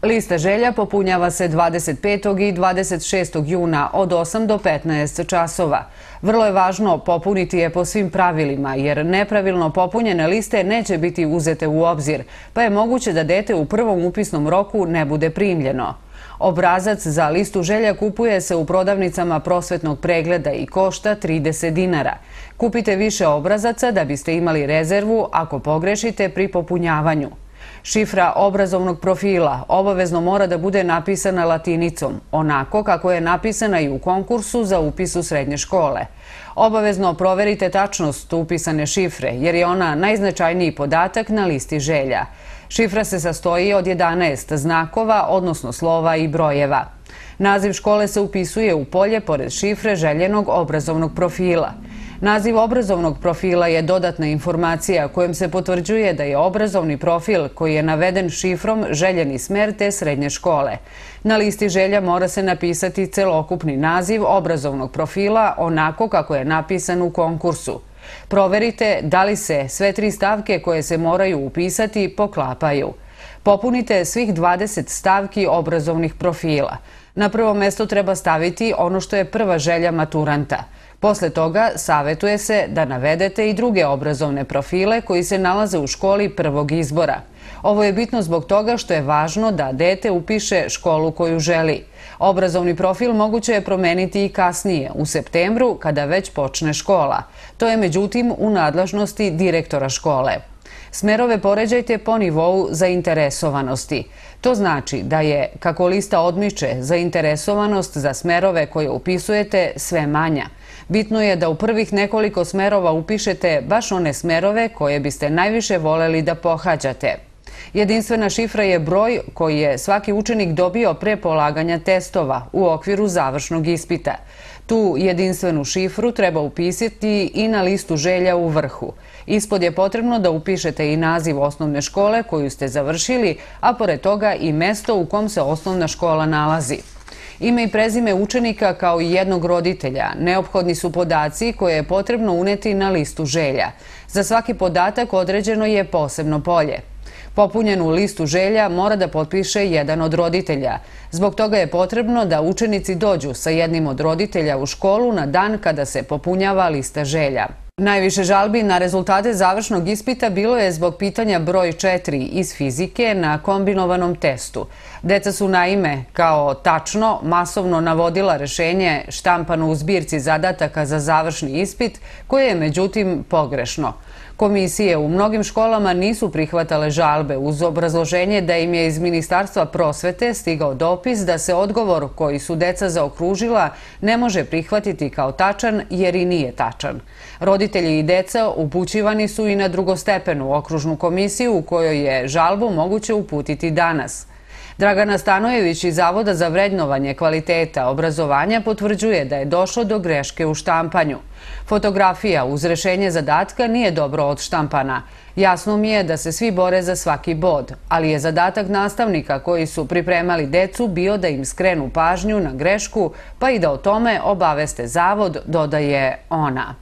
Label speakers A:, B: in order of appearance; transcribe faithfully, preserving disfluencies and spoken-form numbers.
A: Lista želja popunjava se dvadeset petog i dvadeset šestog juna od osam do petnaest časova. Vrlo je važno popuniti je po svim pravilima, jer nepravilno popunjene liste neće biti uzete u obzir, pa je moguće da dete u prvom upisnom roku ne bude primljeno. Obrazac za listu želja kupuje se u prodavnicama prosvetnog pregleda i košta trideset dinara. Kupite više obrazaca da biste imali rezervu ako pogrešite pri popunjavanju. Šifra obrazovnog profila obavezno mora da bude napisana latinicom, onako kako je napisana i u konkursu za upis u srednje škole. Obavezno proverite tačnost upisane šifre, jer je ona najznačajniji podatak na listi želja. Šifra se sastoji od jedanaest znakova, odnosno slova i brojeva. Naziv škole se upisuje u polje pored šifre željenog obrazovnog profila. Naziv obrazovnog profila je dodatna informacija kojom se potvrđuje da je obrazovni profil koji je naveden šifrom željeni smer te srednje škole. Na listi želja mora se napisati celokupni naziv obrazovnog profila onako kako je napisan u konkursu. Proverite da li se sve tri stavke koje se moraju upisati poklapaju. Popunite svih dvadeset stavki obrazovnih profila. Na prvo mesto treba staviti ono što je prva želja maturanta. Posle toga savetuje se da navedete i druge obrazovne profile koji se nalaze u školi prvog izbora. Ovo je bitno zbog toga što je važno da dete upiše školu koju želi. Obrazovni profil moguće je promeniti i kasnije, u septembru, kada već počne škola. To je međutim u nadležnosti direktora škole. Smerove poređajte po nivou zainteresovanosti. To znači da je, kako lista odmiče, zainteresovanost za smerove koje upisujete sve manja. Bitno je da u prvih nekoliko smerova upišete baš one smerove koje biste najviše voleli da pohađate. Jedinstvena šifra je broj koji je svaki učenik dobio pre polaganja testova u okviru završnog ispita. Tu jedinstvenu šifru treba upisati i na listu želja u vrhu. Ispod je potrebno da upišete i naziv osnovne škole koju ste završili, a pored toga i mesto u kom se osnovna škola nalazi. Ime i prezime učenika kao i jednog roditelja neophodni su podaci koje je potrebno uneti na listu želja. Za svaki podatak određeno je posebno polje. Popunjenu listu želja mora da potpiše jedan od roditelja. Zbog toga je potrebno da učenici dođu sa jednim od roditelja u školu na dan kada se popunjava lista želja. Najviše žalbi na rezultate završnog ispita bilo je zbog pitanja broj četiri iz fizike na kombinovanom testu. Deca su naime, kao tačno, masovno navodila rešenje štampano u zbirci zadataka za završni ispit, koje je međutim pogrešno. Komisije u mnogim školama nisu prihvatale žalbe uz obrazloženje da im je iz Ministarstva prosvete stigao dopis da se odgovor koji su deca zaokružila ne može prihvatiti kao tačan jer i nije tačan. Roditelji i deca upućivani su i na drugostepenu okružnu komisiju u kojoj je žalbu moguće uputiti danas. Dragana Stanojević iz Zavoda za vrednovanje kvaliteta obrazovanja potvrđuje da je došlo do greške u štampanju. Fotografija uz rešenje zadatka nije dobro odštampana. Jasno mi je da se svi bore za svaki bod, ali je zadatak nastavnika koji su pripremali decu bio da im skrenu pažnju na grešku, pa i da o tome obaveste Zavod, dodaje ona.